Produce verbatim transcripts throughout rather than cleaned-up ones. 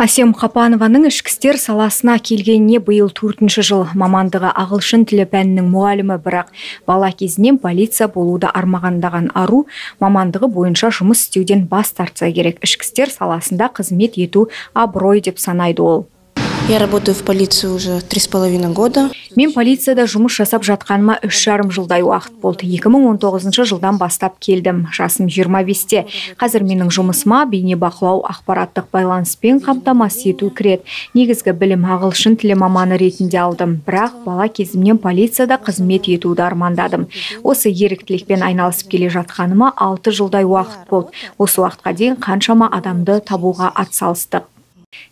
Асем Қапанованың ішкі істер саласына келгеніне биыл төртінші жыл. Мамандығы ағылшын тілі пәнінің мұғалімі, бірақ бала кезінен полиция болуды армағандаған ару мамандығы бойынша жұмыс істеуден бас тартса керек. Ішкі істер саласында қызмет ету абырой деп санайды ол. Я работаю в полиции уже три с половиной года. Мен полицияда жұмыс жасап жатқаныма үш жарым жылдай уақыт болды. екі мың он тоғызыншы жылдан бастап келдім. Жасым жиырма бесте. Қазір менің жұмысыма бейнебақылау, ақпараттық байланыспен қамтамасыз ету кіреді. Негізгі білім ағылшын тілі маманы ретінде алдым. Бірақ бала кезімнен полицияда қызмет етуді армандадым. Осы еріктілікпен айналысып келе жатқаныма алты жылдай уақыт болды. Осы уақытқа дейін қаншама адамды табуға атсалыстық.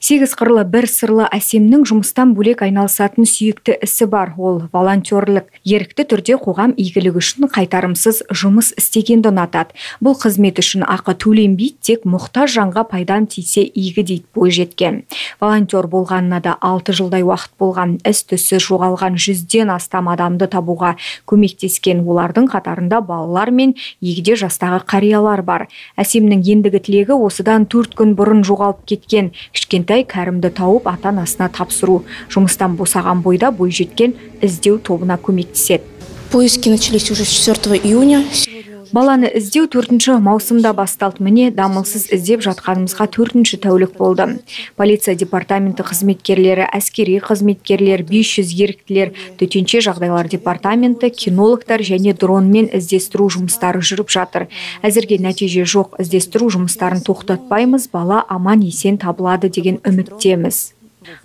Сегіз қырлы бір сырлы Әсемнің жұмыстан бөлек айналысатын сүйікті ісі бар. Ол волонтерлік. Ерікті түрде қоғам игілігі үшін қайтарымсыз жұмыс істегенді ұнатады. Бұл қызмет үшін ақы төленбейді, тек мұқтаж жанға пайдам тисе игі дейді бойжеткен. Волонтер болғанына да алты жылдай уақыт болған. Із-түссіз жоғалған жүзден астам адамды табуға көмектескен. Олардың қатарында балалар мен егде жастағы қариялар бар. Әсемнің ендігі тілегі осыдан төрт күн бұрын жоғалып кеткен кішкентай Кәрімді тауып ата-анасына тапсыру. Жұмыстан босаған бойда бойжеткен іздеу тобына көмектеседі. Поиски начались уже с четвёртого июня. Баланы іздеу төртінші маусымда басталды. Міне дамылсыз іздеп жатқанымызға төртінші тәулік болды. Полиция департаменті қызметкерлері, әскери қызметкерлер, бес жүз еріктілер, төтенше жағдайлар департаменті, кинологтар және дронмен іздестіру жұмыстары жүріп жатыр. Әзірге нәтиже жоқ. Іздестіру жұмыстарын тоқтатпаймыз, бала аман есен табылады деген үміттеміз.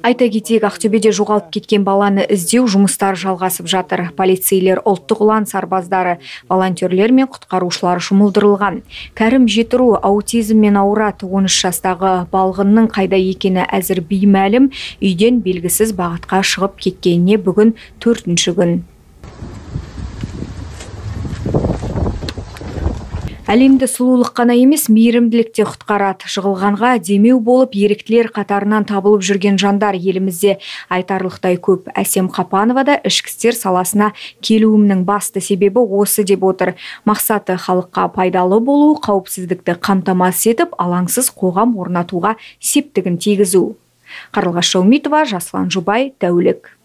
Айта кетейік, Ақтөбеде жоғалып кеткен баланы іздеу жұмыстары жалғасып жатыр. Полицейлер, ұлттық ұлан сарбаздары, волонтерлер мен құтқарушылар жұмылдырылған. Кәрім Жетіру аутизммен ауырады. он үш жастағы балғынның қайда екені әзір беймәлім. Үйден белгісіз бағытқа шығып кеткеніне бүгін төртінші күн. Әлемді сұлулық қана емес, мейірімділік те құтқарады. Жығылғанға демеу болып, еріктілер қатарынан табылып жүрген жандар елімізде айтарлықтай көп. Асем Қапанова да ішкі істер саласына келуімнің басты себебі осы деп отыр. Мақсаты халыққа пайдалы болу, қауіпсіздікті қамтамасыз етіп, алаңсыз қоғам орнатуға септігін тигізу. Қарлығаш Шаумитова, Жаслан Жұбай, Тәулік.